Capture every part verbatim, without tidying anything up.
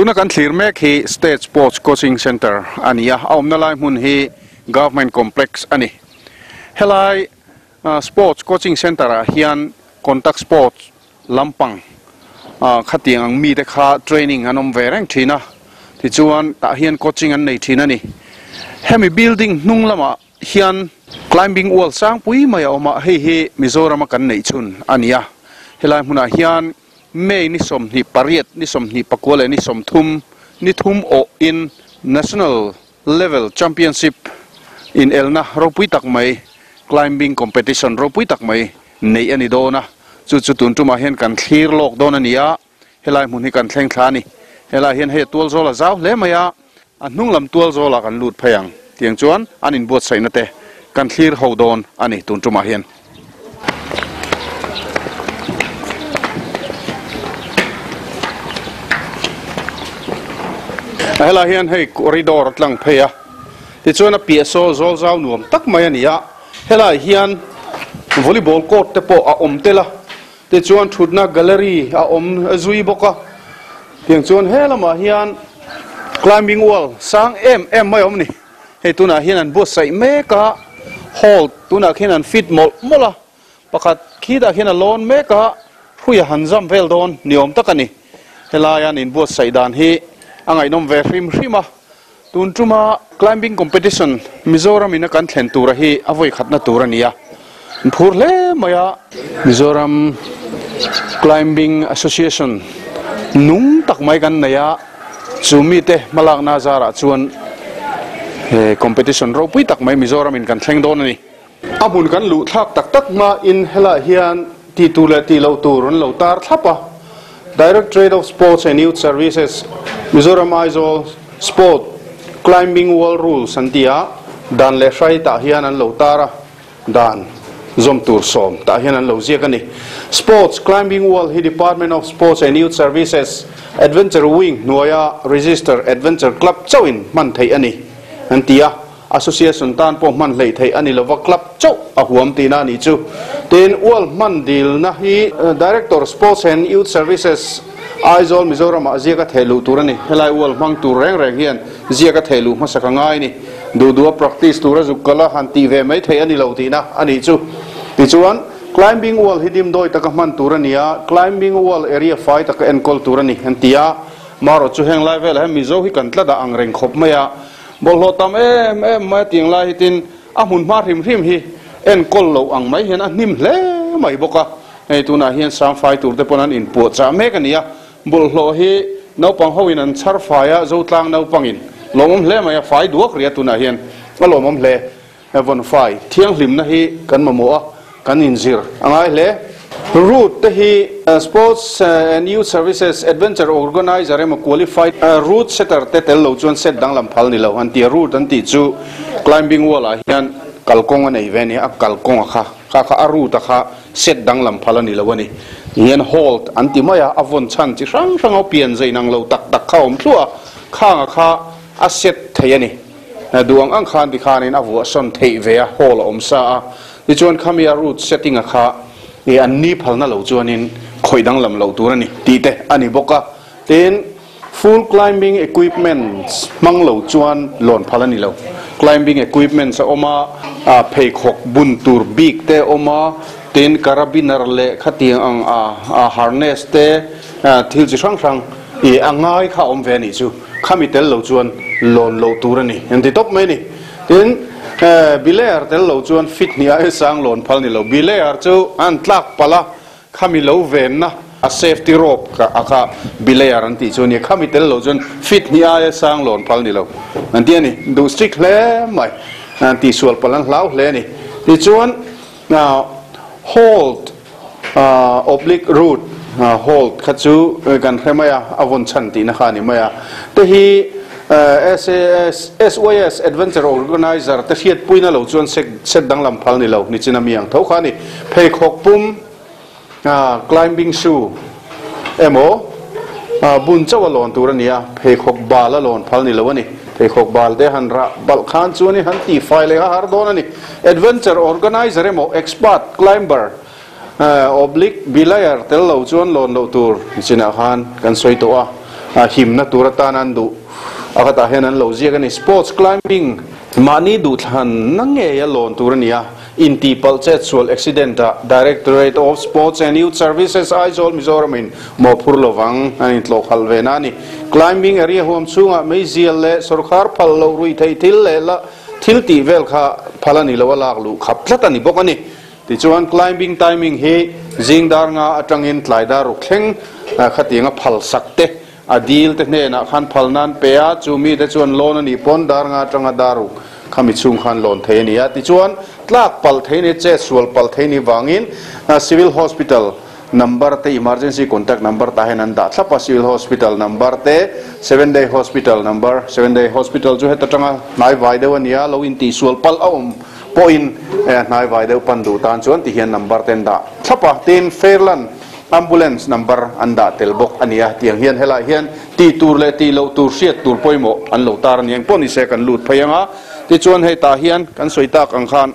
Tuna kan thlir mek hi State Sports Coaching Center ania a awmna lai hmun hi Government Complex ani. Helai Sports Coaching Center ah hian contact sports lampang khatiang ang mi te kha training an awm ve reng thin a, tichuan tah hian coaching an nei thin ani. Hemi building hnung lamah hian climbing wall sang pui mai a awm a, hei hi Mizoram a kan neih chhun ania. Helai hmunah hian May ni sawmhnih pariat ni sawmhnih pakua leh ni sawmthum ni thum awh in National Level Championship in elna ropui tak mai climbing competition ropui tak mai nei ani dawn a, chu chu tun tumah hian kan thlir lawk dawn ani a, helai hmun hi kan thleng thla ani. Helai hian hei a tual zawl a zau hle mai a, a hnung lam tual zawlah kan lut phei ang tiang chuan an inbuatsaihna te kan thlir ho dawn ani tun tumah hian. Helai hian hei corridor a tlang phei a, tichuan a piah saw zawl zau nuam tak mai ani a, helai hian volleyball court te pawh a awm tel a, tichuan thutna gallery a awm zui bawk a, tiang chuan he lamah hian climbing wall sang em em mai a awm ni. Hei tunah hian an buatsaih mek a, hall tunah khian an fit mawlh mawlh a, pakhat khitah khian a lawn mek a, hruia han zam vel dawn ni awm tak a ni. Helai an inbuatsaih dan hi a ngaihnawm ve hrim hrim a, tun tuma climbing competition Mizoram in a kan thlen tura hi a vawi khatna tur a ni a, an phur hle mai a. Mizoram Climbing Association nung tak mai kan nei a, chu mite hmalakna zarah chuan he competition ropui tak mai Mizoram in kan thleng dawn a ni. A hmun kan luh thlak tak tak hma in helai hian ti tur leh ti lo tur an lo tar thlap a. Directorate of Sports and Youth Services Mizoram Aizawl Sport Climbing Wall Rules an ti a, dan leh hrai tah hian an lo tar a, dan zawm tur sawm tah hian an lo ziak a ni. Sports Climbing Wall hi Department of Sports and Youth Services Adventure Wing hnuaia Register Adventure Club chauhin hman theih a ni an ti a, Association tan pawh hman hleih theih a ni lova club chauh a huam tihna a nih chu. Tin, wall hman dilna hi Director Sports and Youth Services Aizawl Mizoramah ziak a theh luh tur a ni. Helai wall hmang tur reng reng hian ziak a theh luh hmasa ka ngai a ni. Duh duh a practice tura zuk kal a han tih ve mai theih a ni lo tihna a nih chu. Tichuan, climbing wall hi dimdawi taka hman tur a ni a, climbing wall area fai taka enkawl tur a ni an ti a. Marawh chu heng lai velah hian Mizo hi kan tlat a ang reng khawp mai a, bawlhhlawh tam em em mai a tiang lai hi tin a hmun hma hrim hrim hi enkawl loh ang mai hian a hnim hle mai bawk a. Hei tunah hian sangfai tur te pawn an inpuah chah mek a ni a, bawlhhlawh hi naupang ho in an chhar fai a, Zotlang naupangin lawmawm hle mai a, fai duak ria tunah hian a lawmawm hle. Vawn fai thianghlimna hi kan mamawh a, kan inzir a ngai hle. Route te hi Sports and Youth Services Adventure Organiser emaw qualified route setter te tel lo chuan set danglam phal ni lo an ti a. Route an tih chu climbing wall ah hian kalkawng a nei ve a ni a, kalkawng a kha kha kha a route a kha set danglam phal a ni lo a ni. Tihian hold an ti mai a, a vawn chhan chi hrang hrang a pian zain ang lo tak tak kha a awm thluah a, khang a kha a set thei a ni. Duh ang ang khan tikhanin a vuah sawn theih ve a, hall a awm sa a, tichuan khami a route setting a kha i an ni phalna lo chuanin khawih danglam loh tur a ni tih te a ni bawk a. Tin, full climbing equipments hmang lo chuan lawn phal a ni lo. Climbing equipments a awm a, pheikhawk bun tur bik te a awm a, tin carabiner leh khatiang ang a harness te thil chi hrang hrang i a ngai kha a awm ve a nih chu. Khami tel lo chuan lawn loh tur a ni an ti tawp mai a ni. Tin, bilayer tel lo chuan fit hnih aia sang lawn phal ni lo. Bilayer chu an tlak palh a, khami lo venna a safety rope kha a kha bilayer an tih chu a ni. Khami tel lo chuan fit hnih aia sang lawn phal ni lo an ti a ni. Duh strict hle mai, an tihsual palh an hlau hle a ni. Tichuan, hold oblique route hold kha chu kan hre mai a, a vawn chhan tihna kha a ni mai a. Te hi S A S S Y S Adventure Organiser te hriatpuina lo chuan set danglam phal ni lo ni chin a mi ang tho kha a ni. Pheikhawk pum climbing shoe emaw bun chauh a lawn tur a ni a, pheikhawk bal a lawn phal ni lo a ni. Pheikhawk bal te han rah balh khan chuan i han tihfai leh a har dawn a ni. Adventure Organiser emaw expert climber oblique bilayer tel lo chuan lawn loh tur ni chinah khan kan sawi tawh a. a himna tur atan an du a khatah hian an lo ziak ani sports climbing mahni duh thlan na ngei a lawn tur ania inti pal chet sual accident a Directorate of Sports and Youth Services Aizawl Mizoram in mo phur lovang an in tlo khal ve na ni climbing area huam chunga meizial le sarkar phal lo rui thei thil le la thil ti vel kha phalani lo lak lu khap tlat ani bok ani ti chuan climbing timing hi zingdar nga atangin tlaidar ruk thleng khatinga phal sak te adil te hne na khan phalnan pe a chumi te chuan loan ani pon dar nga atanga daru khami chung khan loan thei ani a ti chuan tlak pal thei ni che sual pal thei ni wangin civil hospital number te emergency contact number ta hen an da thlapa civil hospital number te seven day hospital number seven day hospital chu heta tanga nai vai deuh ania lo in ti sual pal a awm pawhin hnai vai deuh pan du tan chuan ti hian number ten da thlapa tin Fairland ambulance number an da tel bawk ania tiang hian helai hian ti tur leh ti lo tur hriat tur pawimawh an lo tar aniang pawh ni se kan lut phei anga ti chuan hei tah hian kan sawi tak ang khan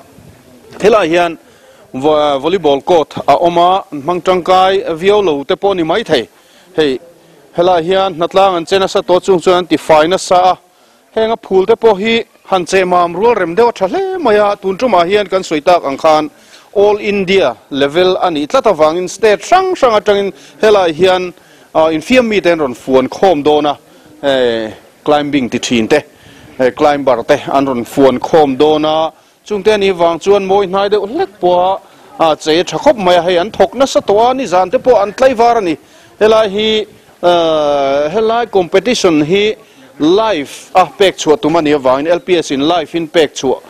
helai hian volleyball court a awm a hmang tangkai viau lo te pawh ni mai thei hei helai hian hnatlang an chen nasa tawh chung chuan an ti fai nasa a heng a phul te pawh hi han che mam rual rem deuh a tha hle mai a tun tumah hian kan sawi tak ang khan all India level ani tlat awangin state hrang hrang atangin helai hian infiam mi te an rawn fuan khawm dawn a climbing ti thin te climber te an rawn fuan khawm dawn a chungte ani wang chuan mawi hnai deuh hlek pawha a che tha khawp mai a hei an thawk nasa tawh a ni zan te pawh an tlaivar ani helai hi helai competition hi live a pek chhuah tum ani awangin L P S in live in pek chhuah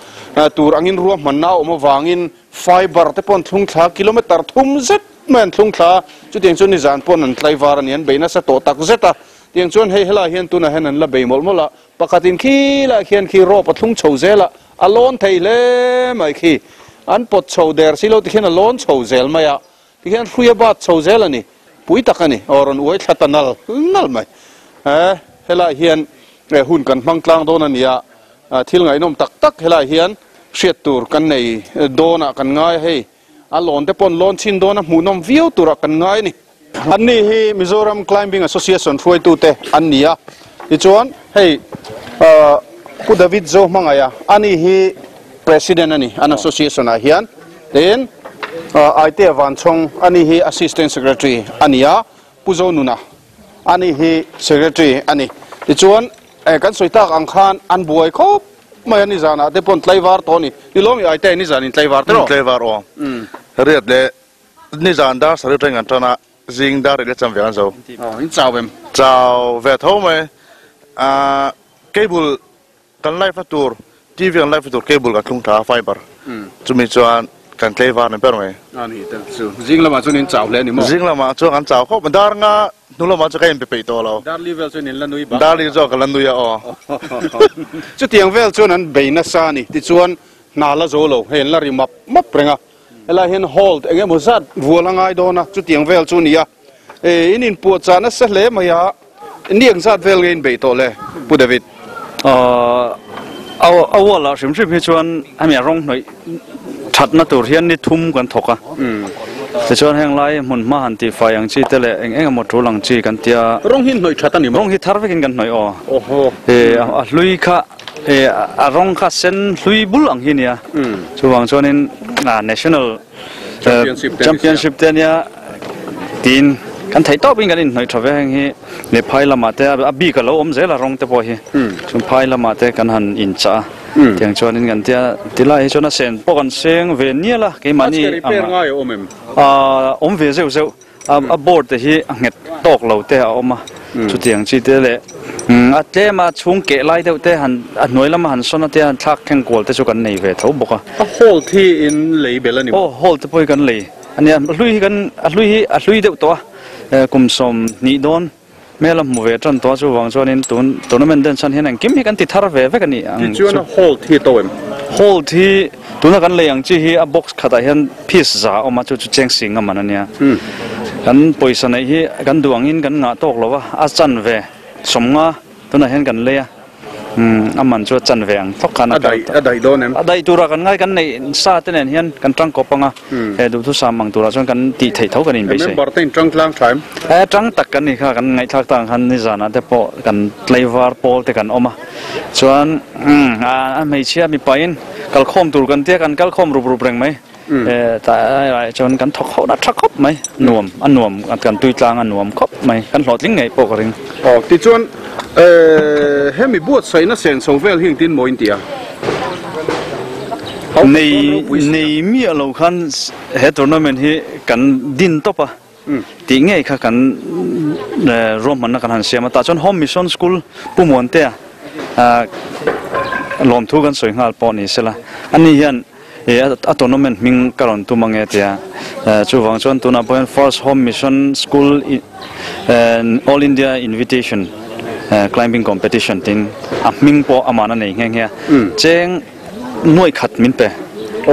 tur angin ruah hmanna a awm awangin fiber te pawn thlung thla kilometer thum zet mai an thlung thla chutiang chuan ni zan pawn an tlaivar ani an bei nasa tawh tak zet a tiang chuan hei helai hian tunah hian an la bei mawlh mawlh a pakhatin khi lah khian khi rope a thlung chho zel a a lawn thei hle mai khi an pawt chho der si lo ti khian a lawn chho zel mai a ti khian hruia bat chho zel ani pui tak ani aw rawn uai thla ta nal nal mai eh helai hian hun kan hmang tlang dawn ania thil ngaihnawm tak tak helai hian hriat tur kan nei dawnah kan ngai hei a lawn te pawn lawn chin dawn a hmuhnawm viau turah kan ngai ani anni hi Mizoram Climbing Association hruaitu te an ni a tichuan hei Pu David Zo hmangaia ani hi president ani an association ah hian tin Aite Vanchhawng ani hi assistant secretary ani a Pu Zo Nuna ani hi secretary ani tichuan kan sawi tak ang khan an buai khawp mai ani zanah te pawn tlaivar tawh ani ni lawmi Aite ni zanin tlaivar te rawh tlaivar aw riat le ni zan dar sarih teng an tana zing dar le cham ve an zo in chau em chau ve tho mai a cable kan live tur T V kan live tur cable kan thlung tha fiber chumi chuan kan tlaivar ni ber mai ani tel chu zing lama chuan in chau hle ani maw zing lama chuan kan chau khawp dar nga hnu lama chu ka in pe peih tawh lo dar li vel chuan in la nui ba dar li zawk ka la nui a aw chutiang vel chuan an bei nasa ani tichuan hna la zo lo hei an la ri map map renga helai hian hold engemaw zat vual a ngai dawn a chutiang vel chu ni a in in puah chah nasa hle mai a niang zat vel nge in bei tawh le Pu David a wall ah hrim hrim hi chuan hemi a rawng hnawih thatna tur hian ni thum kan thawk a tichuan heng lai hmun hma han tih fai ang chi te leh eng eng emaw tul ang chi kan tia rawng hi hnawih that ani maw rawng hi thar vekin kan hnawih aw oho a hlui kha a rawng kha sen hlui bul ang hi nia chuwang chuanin national championship te ania tin kan thei tawp in kan in hnawih tha ve heng hi le phai lamah te a bik a lo awm zel a rawng te pawh hi chung phai lamah te kan han in chah a tiang chuanin kan tia tilai hi chuan a sen pawh kan seng ve nial a keimahni a awm ve zeuh zeuh a board te hi a nghet tawk lo te a awm a chutiang chi te leh a tlem a chhung keh lai deuh te han a hnuai lama han sawn a te han thlak thleng kual te chu kan nei ve tho bawk a a hold hi in lei bel ani aw hold te pawh hi kan lei ani a hlui hi kan a hlui hi a hlui deuh tawh a kum sawm hnih dawn mela hmu ve tan tawh chu wang chuanin tun tournament den chan hian engkim hi kan ti thar ve vek ani ang chuan a hold hi to em hold hi tuna kan lei ang chi hi a box khatah hian piece za awm a chu chu cheng sing a man ania kan pawisa nei hi kan duangin kan ngah tawk lova a chan ve somnga tuna hian kan lei a aman chu chan ve ang thok khana adai adai don em adai tura kan ngai kan nei sa te nen hian kan tang kopanga he du thu sam mang tura chuan kan ti thei tho kan in be se member ten tang tlang thaim e tang tak kan ni kha kan ngai thak tang han ni zana te po kan flavor pol te kan oma chuan a mei chia mi pain kal khom tur kan te kan kal khom rup rup reng mai e ta ai chuan kan thok ho na thak khop mai nuam an nuam kan tui tlang an nuam khop mai kan hlot ling ngai po ka ring o ti chuan eh hemi buat saina sen so vel hing tin moin tia nei nei mi alo khan he tournament hi kan din topa ti nge kha kan rom man na kan han siama ta chuan home mission school pumon te a lom thu kan soi ngal pawh ni sela ani hian e a tournament ming karon tumange tia chu wang chuan tuna point first home mission school all India invitation climbing competition tin a ming po amana nei nge nge cheng noi khat min pe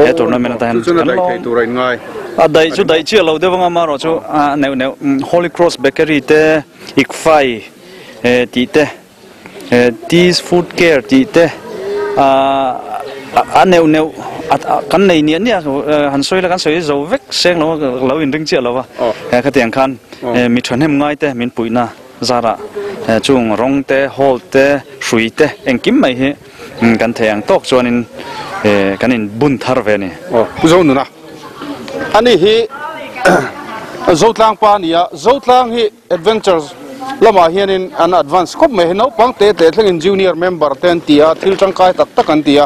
he tournament ta han chu na dai thei tur in ngai a dai chu dai chi lo dewanga ma ro chu a neu neu Holy Cross Bakery te ikfai e ti te Teas Food Care ti te a a neu neu kan nei ni ania han soi la kan soi zo vek seng lo lo in ring chi lo wa kha tiang khan mi than hem ngai te min puina zara chung rong te hol te hrui te engkim mai hi kan theiang tok chuan in kan in bun thar ve ni o zo nu na ani hi zo tlang pa nia zo tlang hi adventures lama hianin an advance khop mai no pang te te thleng in junior member ten tia thil tangkai tak tak an tia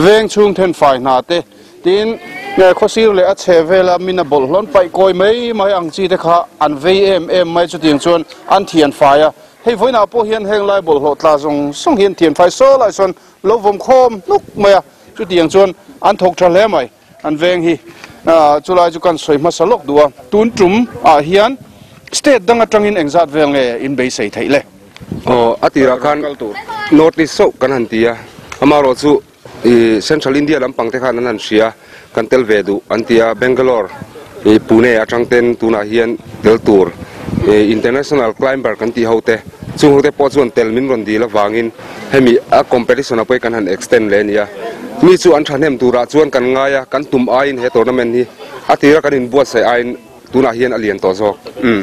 veng chung then fai na te tin khosir le a chevela mina bol hlon pai koi mai mai ang chi te kha an vei em em mai chu tiang chuan an thian faia hei voina po hian heng lai bol hlo tla zong song hian thian fai so lai son lo vom khom nuk mai a chu tiang chuan an thok tha hle mai an veng hi chu lai chu kan soi hmasa lok dua tun tum a hian state dang atangin engzat vel nge in bei sei thei le o atira khan north east so kan han tia amaro chu central India lampang te khan an han sia kan tel ve du antia Bangalore e Pune atang ten tuna hian tel tur international climber kan ti hote chung hote po chuan tel min ron di la wangin hemi a competition apoi kan han extend le nia mi chu an thanem tura chuan kan ngaya kan tum ain he tournament hi atira kan in buat sai ain tuna hian alian to zawk um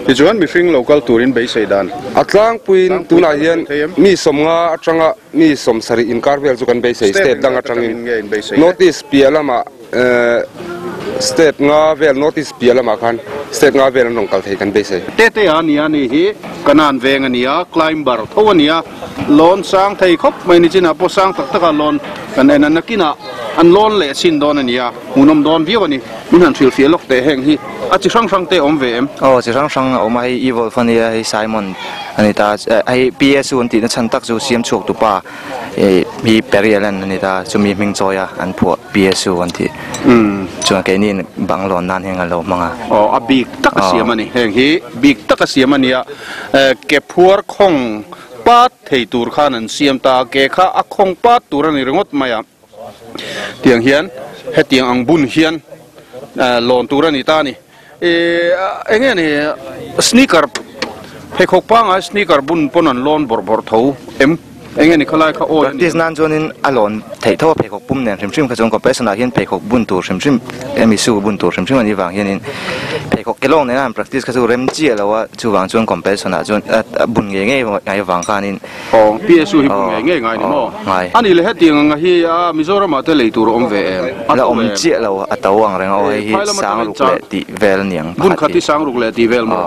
ti chuan mi fing local turin bei sei dan atlang puin tuna hian mi somnga atanga mi somsari in karvel chu kan bei sei state dang atangin notice pialama state nga vel notice pialama khan state nga vel nong kal thei kan bei sei te te ani ani hi kanan veng ania climber thowania lon sang thei khop mai ni china po sang tak taka lon kan en anakina an lon le sin don ania munom don viu ani min han thil fialok te heng hi a chi hrang hrang te om ve em o chi hrang hrang om hei evil fania hei Simon anita hei P S U an ti na chan tak chu siam chuak tu pa e hi Perialan anita chumi hming choya an phuah P S U an ti um chuan ke ni banglon nan heng alo manga o a big tak a siam ani heng hi big tak a siam ania ke phuar khong pat thei tur khan an siam ta ke kha a khong pat tur ani ringot maya tiang hian hetiang ang bun hian lon tur ani ta ni e enge ni sneaker phei khok pa nga sneaker bun pon an lon bor bor tho em enge ni khalai kha o practice nan chuanin a lon thei tho phei khok pum nen hrim hrim kha chuan competition ah hian phei khok bun tur hrim hrim emi su bun tur hrim hrim ani wang hianin phei khok kelong nen an practice kha chu rem chi alowa chu wang chuan competition ah chuan bun nge nge ngai wang khanin o P S U hi bun nge nge ngai ni mo ani le hetiang anga hi a Mizoram ah te lei tur om ve em la om chi lo a to ang reng o hei hi sang ruk le ti vel niang bun khati sang ruk le ti vel mo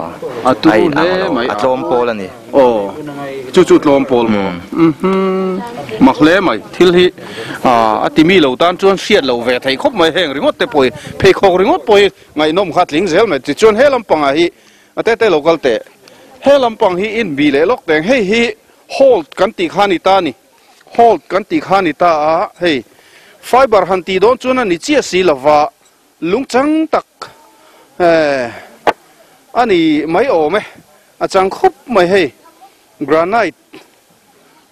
a tu ne mai a tlom pol ani o chu chu tlom pol mo mhm mak le mai thil hi a atimi lo tan chuan hriat lo ve thei khop mai heng ringot te poi phei khok ringot poi ngai nom khat ling zel mai ti chuan he lampang a hi ate te local te he lampang hi in bi le lok teng hei hi hold kan ti khani ta ni hold kan ti khani ta a hei fiber han ti don chuan ani chia si lova lungchang tak eh ani mai ome a chang khop mai hei granite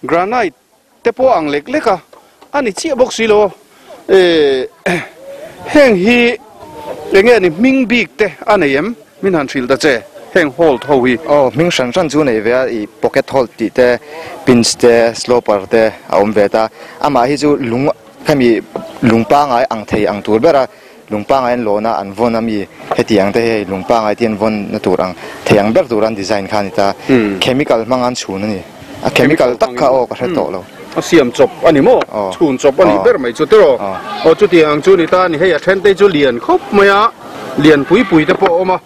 granite te po ang lek leka ani chia bok si lo eh heng hi enge ni ming bik te anei em min han thil ta che Heng hold ho hi oh ming shan shan chu nei ve i pocket hold ti te pins te sloper te a awm ve ta ama hi chu lung khami lungpa ngai ang thei ang tur bera lungpa ngai an lona an von ami heti ang te hei lungpa ngai tian von na tur ang theiang ber tur an design khan ita chemical mangan chhun ani a chemical tak kha o ka hre to lo a siam chop ani mo chhun chop ani ber mai chu tero o chu ti ang chu ni ta ni hei a then te chu lian khop mai a lian pui pui te pawh awm a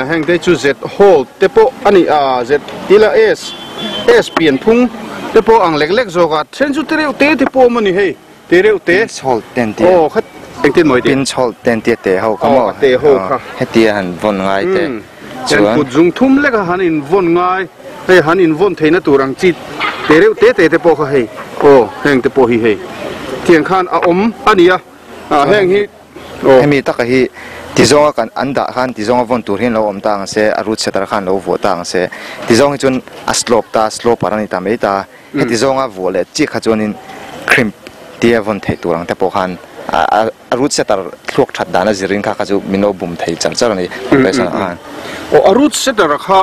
heng te chu Z hold te pawh ani a Z tila S S pian phung te pawh ang lek lek zawk a then chu te reuh te te pawh awm ani hei te reuh te hold ten te o khat engtin mai te pin hold ten te te ho ka mo te ho kha heti han von ngai te chuan kut zung thum lek a han in von ngai hei han in von theina tur ang chi te reuh te te te pawh kha hei o heng te pawh hi hei thiang khan a awm ani a heng hi hemi taka hi tizonga kan anda khan tizonga von tur hin lo awm ta ang se a root setter khan lo vuah ta ang se tizong hi chuan a slope ta slope arani ta mai ta heti zonga vuah leh chi kha chuanin crimp tia von thei tur ang te pawh khan a root setter thluak that dana zirin kha kha chu min lo bum thei char char ani competition khan o a root setter kha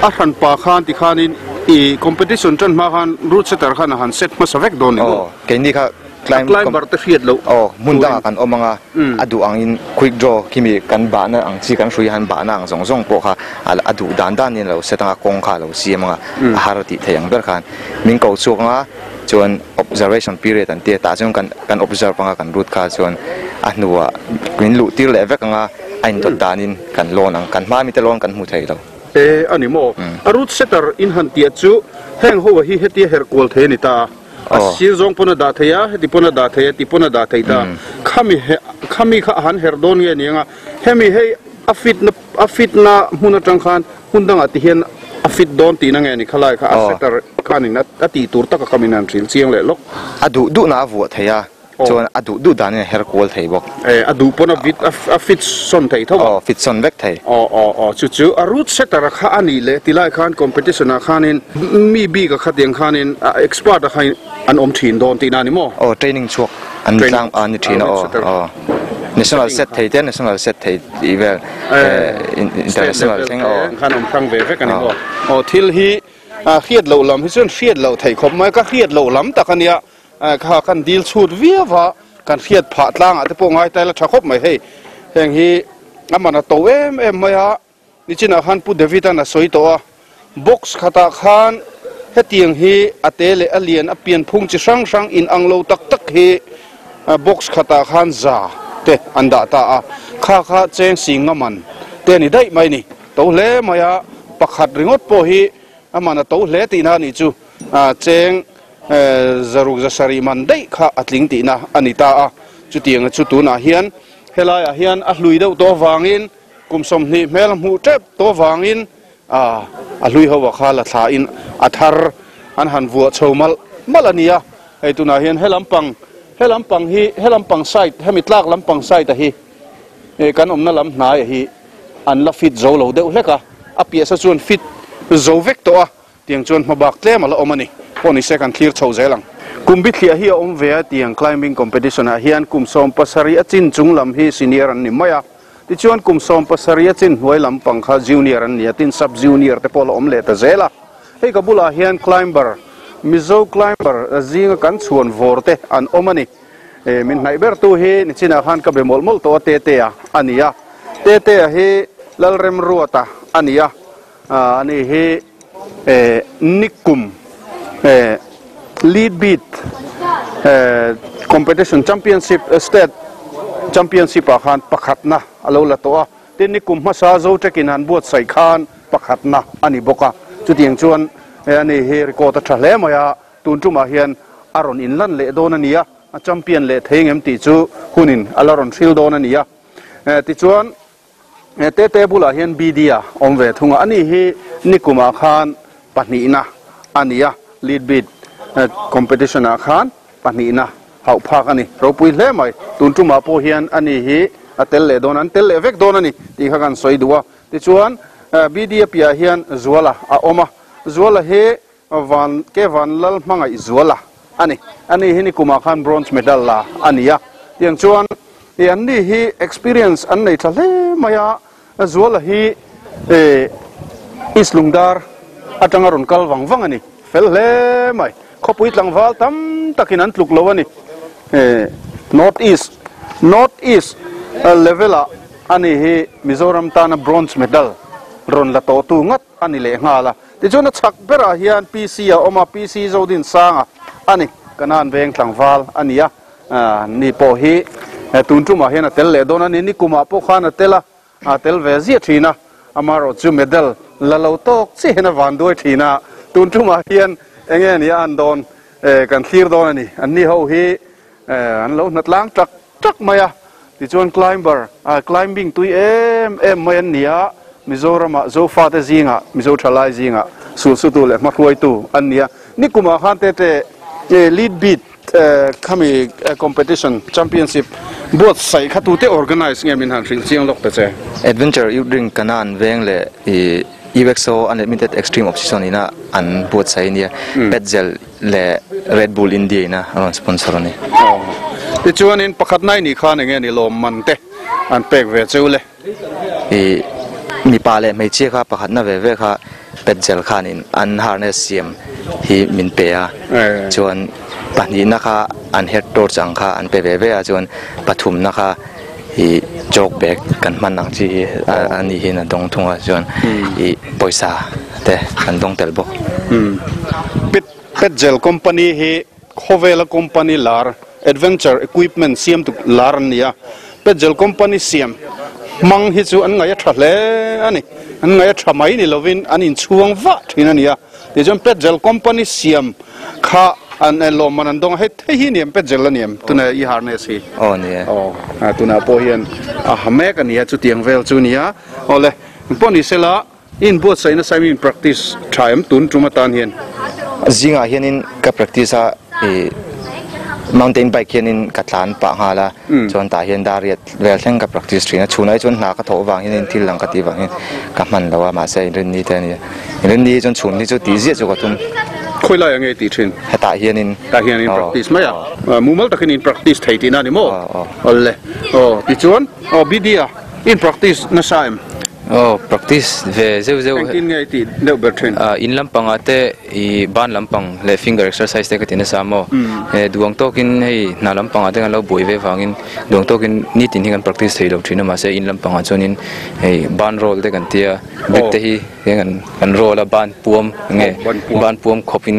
a hran pa khan ti khanin i competition tan ma khan root setter khan han set ma savek don ni o keini kha climb climber te hriat lo oh mun danga kan omanga adu ang in quick draw kimi kan ba na ang chi kan hrui han ba na ang zong zong po kha adu dan dan in lo setanga kong kha lo siamanga har ti theiang ber khan min ko chuanga chuan observation period an te ta chuan kan kan observe anga kan root kha chuan a hnuwa min lu tir le vek anga ain dot danin kan lon ang kan ma mi te lon kan mu thei lo e ani mo a root setter in han tia chu heng ho hi heti her kol the ni ta a sir zong pona da theya heti pona da theya ti pona da thei ta khami khami kha han her don nge ni anga hemi hei a fit na a fit na hmun atang khan hundanga ti hian a fit don ti na nge ni khalai kha a setter khanin a ti tur taka kamin an thil chiang le lok adu du na vu theya chuan adu du dan her kol thei bok e adu pona vit a fit son thei tho o fit son vek thei o o o chu chu a root setter kha ani le tilai khan competition a khanin mi bi ka khatiang khanin expert a khain an om thin don ti na ni mo o training chuak an tlang an thin o o national set thei te national set thei ivel international thing o khan om thang ve vek ani mo o thil hi a khiat lo lam hi chuan khiat lo thei khop mai ka khiat lo lam takania kha kan dil chut viawa kan khiat pha tlang a te pawh ngai tai la tha khop mai hei heng hi amana to em em mai a nichina khan pu David an a soi to a box khata khan hetiang hi ate le alian a pian phung chi hrang hrang in ang lo tak tak hi box khata khan za te an da ta a kha kha cheng sing ngaman te ni dai mai ni to hle mai a pakhat ringot pawh hi amana to hle ti na ni chu a cheng zaruk zasari man dei kha atling ti na ani ta a chutiang chu tuna hian helai a hian a hlui deuh to wangin kumsom ni hmel hmu tep to wangin a a hlui ho kha la thla in a thar an han vua chomal malania hei tuna hian helampang helampang hi helampang side hemi tlak lampang side a hi e kan omna lam hnai hi an la fit zo lo deuh hleka a pia sa chuan fit zo vek to a tiang chuan hmabak tlem ala awm ani pawh se kan thlir chho zelang kumbi thlia hi a awm ve a tiang climbing competition ah hian kum sawm pasarih a chin chung lam hi senior an ni mai a tichuan kum sawm pasarih a chin hnuai lampang kha junior an ni a tin sub junior te pawh la awm leh ta zel a hei ka bulah hian climber Mizo climber zinga kan chhuan vor te an awm ani e min hnaih ber tu hi nichina khan ka be mawlh mawlh tawh a te te a ani a te te a hi Lalrem Ruata ani a ani hi e nikum e lead beat competition championship state championship a khan pakhatna alo la to a tin nikum hmasa zo takin han buat sai khan pakhatna ani boka chutiang chuan ani hi record a tha hle mai a tun tumah hian a rawn in lan leh dawn ani a a champion leh thei ngem tih chu hunin ala rawn hril dawn ani a tichuan te te bulah hian B D a awm ve thunga ani hi nikumah khan pahnihna ani a lead beat competition a khan pahnihna hauh phak ani ropui hle mai tun tumah pawh hian ani hi a tel leh dawn an tel leh vek dawn ani tih kha kan sawi duh a tichuan B D a piah hian Zuala a awm a Zuala hi van ke van lal hmangaih Zuala ani ani hi nikumah khan bronze medal la ani a tiang chuan e an ni hi experience an nei tha hle mai a Zuala hi e East Lungdar atanga ron kal wang wang ani fel hle mai khopui tlangwal tam takin an tluk lo ani eh North East North East level a ani hi Mizoram tana bronze medal ron la to tu ngat ani le ngala ti chuna chak bera hian P C a oma P C zodin sanga ani kanan veng tlangwal ania ni po hi tun tu ma hian a tel le don ani ni kuma po khana tela a tel ve zia thina amaro chu medal la lo tok chi hena van doi thina tun tu ma hian enge ni an don kan thlir don ani an ni ho hi an lo natlang tak tak maya ti chuan climber climbing tui em em mai an nia Mizoram a zofa te zinga Mizo thalai zinga su su tu le ma hruai tu an nia ni kuma khan te te lead beat khami competition championship both sai khatu te organize nge min han hril chiang lok te che Adventure Youth Drink kanan veng le U X O Unlimited Extreme Option ina an buat sai nia Petzel le Red Bull India ina an sponsor ni ti chuan in pakhat nai ni khan nge ni lom man te an pek ve chule e mi pa le mei che kha pakhat na ve ve kha Petzel khan in an harness siam hi min pe a chuan pahnih na kha an head torch ang kha an pe ve ve a chuan pathum na kha hi jog bag kan man ang chi ani hin a dong thunga chuan i poisa te kan dong tel bok pet Petzel company hi Khovela company lar adventure equipment siam tu lar nia Petzel company siam mang hi chu an ngai tha hle ani an ngai tha mai ni lovin an in chuang wa thina ania ti chuan Petzel company siam kha an lo man an dong he the hi niam Petzel aniam tuna i harness hi oh ni oh tuna po hian a hamek ania chu tiang vel chu nia ole poni sela in buat saina saimin practice time tun tuma tan hian zinga hianin ka practice a e mountain bike hianin ka tlan pa ngala chuan ta hian dariat vel thleng ka practice thina chunai chuan hna ka tho wang hianin thil lang ka ti wang hin ka man lawa ma se rin ni te ni rin ni chuan chun ni chu ti zia chu ka tum khoi lai ange ti thin heta hianin ta hianin practice mai a mumal takin in practice thei ti na ni mo olle oh ti chuan oh bidia in practice na saim oh practice ve zeu zeu tin ngai ti deuh ber thin in lampang ate i ban lampang le finger exercise te ka tin sa mo e duang tokin hei na lampang ate kan lo boi ve wangin duang tokin ni tin hi kan practice thei lo thin ma se in lampang a chuanin hei ban roll te kan tia big te hi kan kan roll a ban puam nge ban puam khopin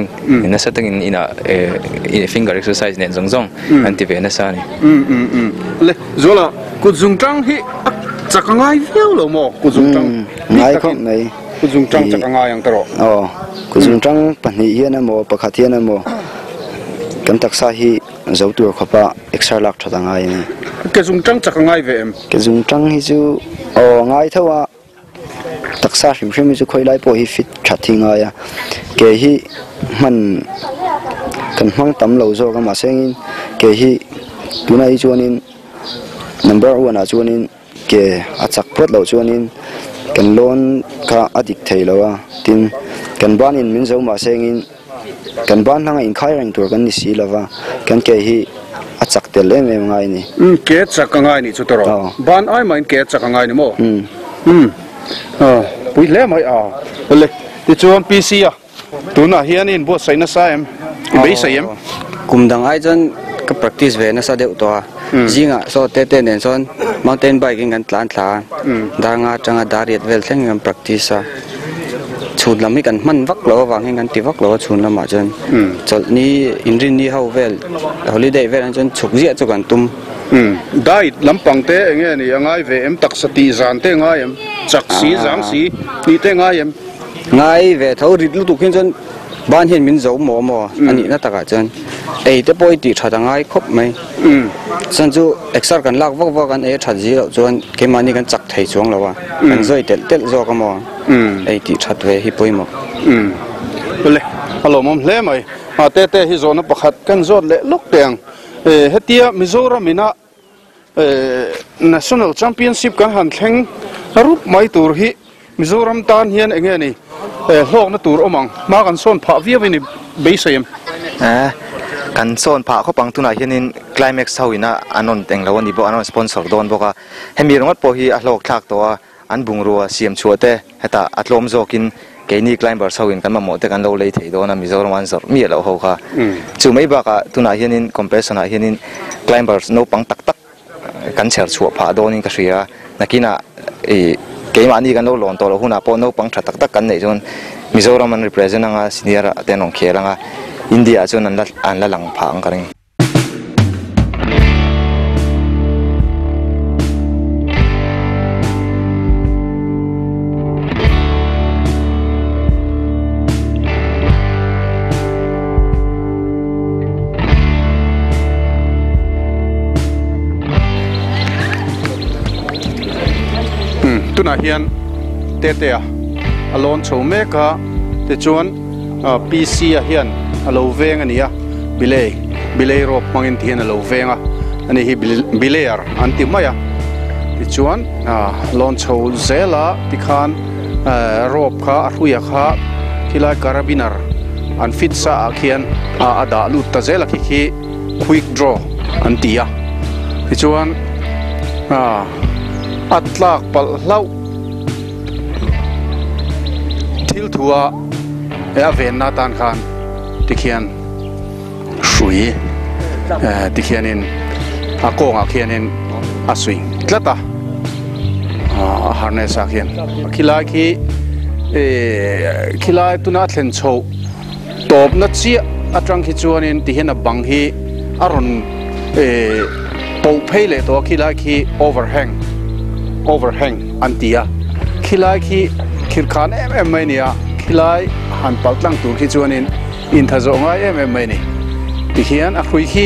na sa tangin ina finger exercise nen zong zong an ti ve na sa ni um um um le zola ku zung tang hi chakangai viau lo mo ku zung tang ngai khop mai ku zung tang chakangai ang taro oh ku zung tang pahnih hian amo pakhat hian amo kan taksa hi zo tur khopa extra lak thatangai ni ke zung tang chakangai ve em ke zung tang hi chu oh ngai thawa taksa hrim hrim chu khoi lai po hi fit thathinga ya ke hi man kan hmang tam lo zo ka ma sengin ke hi tunai chuanin number one a chuanin ke a chak phot lo chuanin kan loan kha adik theilowa tin kan banin min zo ma sengin kan ban hanga in khai reng tur kan ni si lova kan ke hi a chak tel em em ngai ni um ke chak ngai ni chu toro ban ai main ke chak ngai ni mo um um a pui le mai a le ti chuan P C a tuna hian in bo saina sa em bei sai em kumdang ai chan ka practice ve na sa deuh to zinga so te te nen son mountain bike in kan tlan thla danga changa dariat vel thleng kan practice a chhun lam hi kan man vak lo wang hin kan ti vak lo chhun lama chan chol ni inrin ni ho vel holiday vel an chan chuk zia chu kan tum diet lampang te enge ni angai ve em tak sati zan te ngai em chak si zang si ni te ngai em ngai ve tho rit lu tu khin chan ban hian min zo mo mo ani na taka chan ei te poi ti tha ngai khop mai chan chu exer kan lak vak vak an e tha ji lo chuan ke mani kan chak thei chuang lawa kan zoi tel tel zo ka mo ei ti that ve hi poi mo le alo mom hle mai a te te hi zona pakhat kan zot le lok teng e hetia Mizoram ina national championship kan han thleng rup mai tur hi Mizoram tan hian enge ni hlok na tur omang ma kan son pha viau ni beisem eh kan son pha khopang tuna hianin climax hoina anon teng lo ani bo anon sponsor don boka hemi rongot po hi a hlok thlak to a An bungrua siam chuate heta atlom zokin keini climbers hoin kan mamawh te kan lo lei thei dawn a Mizoram an zawrh mi lo ho kha chu mai bakah tunah hianin competition ah hianin climbers naupang tak tak kan chher chhuah phah dawnin ka hria nakina e keimahni kan lo lawn tawh lo hunah pawh naupang tha tak tak kan neih chuan Mizoram an represent anga senior ah te an awm khel anga India ah chuan an la an la lang phah ang ka ring. Tunah hian tete a a lawn chho mek a tichuan P C a hian a lo veng a ni a bilei bilei rope hmangin ti hian a lo veng a ani hi bilear an ti mai a tichuan lawn chho zela tikhan rope kha a hruia kha khilai carabiner an fit sa ah khian a dah lut ta zela khi khi quick draw an ti a tichuan atlak pal hlau thil thua e a ven na tan khan tikhian hrui tikhianin a kawngah khianin a suih tlat a a harness ah khian khilai khi khilai tuna a thlen chho tawp na chiah atang khi chuanin tihian a bang hi a rawn poh phei leh tawh a khilai khi overhang overhang an ti a khilai khi khirkhan em em mai ni a khilai han pal tlang tur khi chuanin in tha zawh ngai em em mai ni tikhian a hrui khi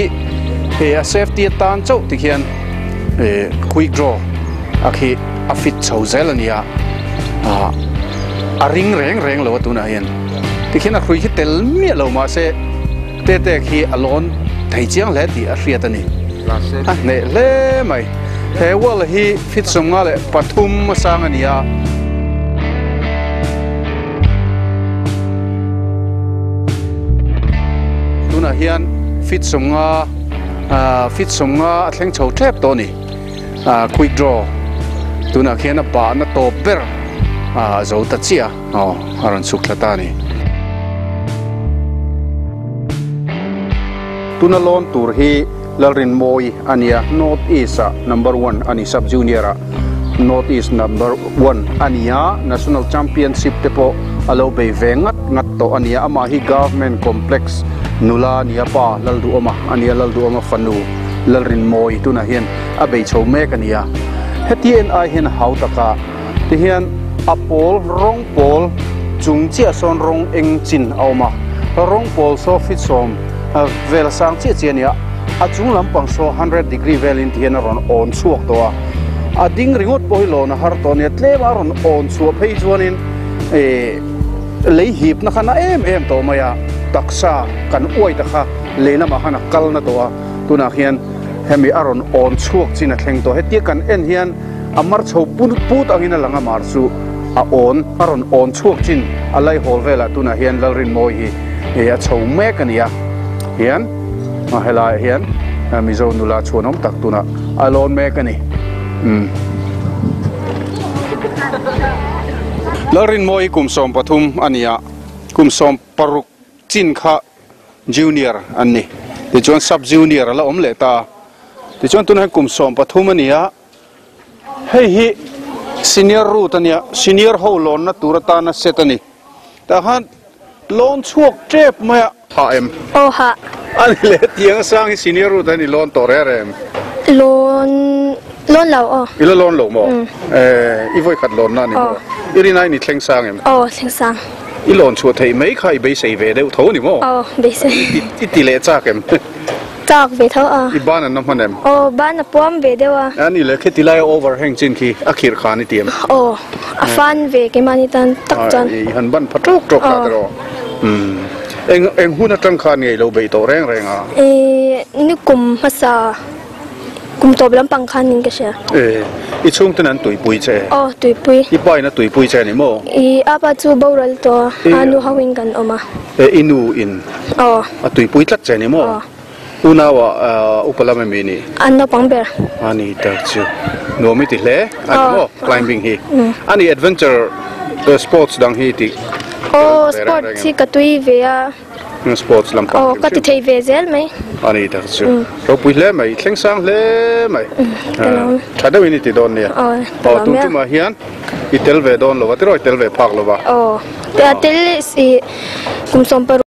he a safety atan chauh tikhian quick draw a khi a fit chho zel ani a a ring reng reng lo a tunah hian tikhian a hrui khi tel miah lo mah se te te khi a lawn thei chiang hle tih a hriat ani a hneh hle mai. He wall hi fit sawmnga leh pathum a sang ani a tunah hian fit sawmnga fit sawmnga a thleng chho tep tawh ani quick draw tunah khian a bah na tawp ber a zo ta chiah aw a rawn chhuk thla ta ani. Tuna lawn tur hi Lalrin Moi ania North East a number one ani sub junior a North East number one ania National Championship te pawh a lo bei ve ngat ngat tawh ania amah hi government complex nula ania pa Lalduhawma ania Lalduhawma fanu Lalrin Moi tunah hian a bei chho mek ania heti en ai hian hau taka ti hian a pawl rawng pawl chung chiah sawn rawng eng chin a awm a rawng pawl saw fit sawm vel sang chiah chiah ania a chung lampang saw hundred degree velin ti hian a rawn awn chhuak tawh a a ding ringawt pawh hi lawn a har tawh ania tlem a rawn awn chhuah phei chuanin lei hip na kha na em em tawh mai a taksa kan uai ta kha lei lamah khan a kal na tawh a tunah hian hemi a rawn awn chhuak chin a thleng tawh hetia kan en hian a mar chho put angin a lang a mar chu a awn a rawn awn chhuak chin a lai hawl velah tunah hian Lalrin Moi hi a chho mek ani a hian a helai hian Mizo nula chhuan awm tak tunah a lawn mek ani. Lalrin Moi kum sawm pathum ania kum sawm paruk chin kha junior an ni tichuan sub junior ala awm leh ta tichuan tunah hian kum sawm pathum ania hei hi senior route ania senior ho lawn na tur atana set ani tah khan lawn chhuak tep mai a ha em aw ha ani le tiang sang hi senior route ani lawn tawh reng reng lawn lawn lo aw ila lawn lo maw eh i voi khat lawn na ni maw i rin ai ni thleng sang em aw thleng sang i lawn chhuah thei mai kha i beisei ve deuh tho ni maw aw beisei i ti leh chak em chak ve tho a i ban an na hman em aw ban a puam ve deuh a ani le kheti lai overhang chin khi a khir khan i ti em aw a fan ve keimahni tan tak chuan i han ban pha tawk tawk ta tawh um eng eng hun atang khan ngei lo bei tawh reng reng a e ni kum hmasa kum tawp lampang khan nin ka hria e i chhung ten an tuipui che aw tuipui i pa in a tuipui che ni maw i apa chu boral to anu hawin kan awm a e inu in aw a tuipui tlat che ni maw Unawa upalama mi ni an naupang ber ani tak chu nuam i ti hle ani maw climbing hi ani adventure sports dang hi ti aw sports hi ka tui ve a sports lampang aw ka ti thei ve zel mai ani tak chu ropui hle mai thleng sang hle mai tha deuh in i ti dawn nia aw tun tumah hian i tel ve dawn lova tiraw i tel ve phak lova aw tel i kum sawm paruk.